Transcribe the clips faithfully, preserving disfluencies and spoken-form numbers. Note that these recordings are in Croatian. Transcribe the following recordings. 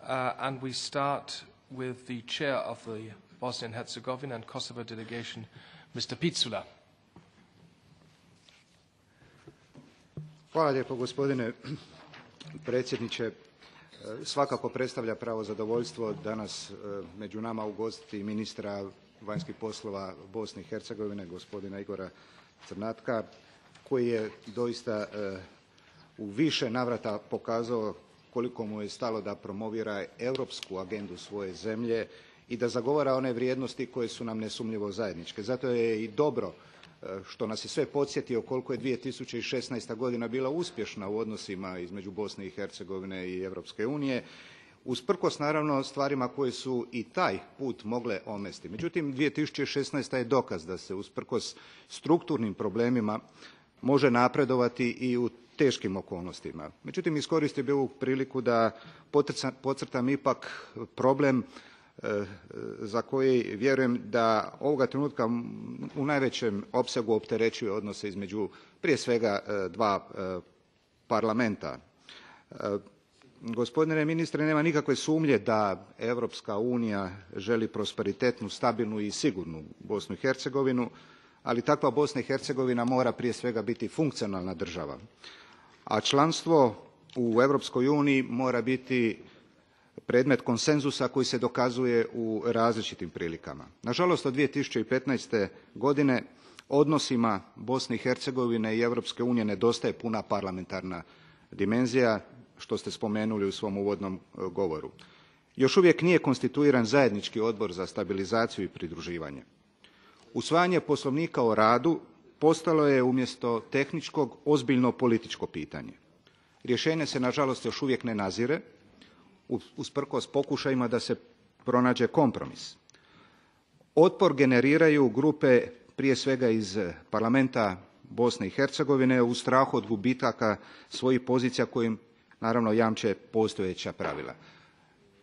uh, and we start with the chair of the Bosnia and Herzegovina and Kosovo delegation, Mister Picula. Hvala lijepo, gospodine predsjedniče. Svakako predstavlja pravo zadovoljstvo danas među nama ugostiti ministra vanjskih poslova Bosne i Hercegovine, gospodina Igora Crnatka, koji je doista u više navrata pokazao koliko mu je stalo da promovira europsku agendu svoje zemlje i da zagovara one vrijednosti koje su nam nesumnjivo zajedničke. Zato je i dobro što nas je sve podsjetio koliko je dvije tisuće šesnaesta. godina bila uspješna u odnosima između Bosne i Hercegovine i Europske unije, usprkos naravno stvarima koje su i taj put mogle omesti. Međutim, dvije tisuće šesnaesta. je dokaz da se usprkos strukturnim problemima može napredovati i u teškim okolnostima. Međutim, iskoristio bih ovu priliku da podcrtam ipak problem za koji vjerujem da ovoga trenutka u najvećem opsegu opterećuje odnose između prije svega dva parlamenta. Gospodine ministre, nema nikakve sumnje da Europska unija želi prosperitetnu, stabilnu i sigurnu Bosnu i Hercegovinu, ali takva Bosna i Hercegovina mora prije svega biti funkcionalna država. A članstvo u Europskoj uniji mora biti predmet konsenzusa koji se dokazuje u različitim prilikama. Nažalost, od dvije tisuće petnaeste. godine odnosima Bosne i Hercegovine i Europske unije nedostaje puna parlamentarna dimenzija, što ste spomenuli u svom uvodnom govoru. Još uvijek nije konstituiran zajednički odbor za stabilizaciju i pridruživanje. Usvajanje Poslovnika o radu postalo je umjesto tehničkog ozbiljno političko pitanje. Rješenje se nažalost još uvijek ne nazire, usprkos pokušajima da se pronađe kompromis. Otpor generiraju grupe prije svega iz parlamenta Bosne i Hercegovine u strahu od gubitaka svojih pozicija kojim naravno jamče postojeća pravila.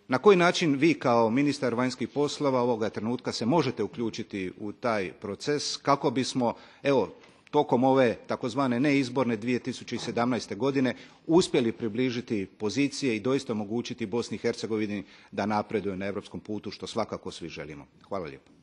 Na koji način vi kao ministar vanjskih poslova ovoga trenutka se možete uključiti u taj proces kako bismo, evo, tokom ove takozvane neizborne dvije tisuće sedamnaeste. godine uspjeli približiti pozicije i doista omogućiti Bosni i Hercegovini da napreduje na europskom putu, što svakako svi želimo. Hvala lijepo.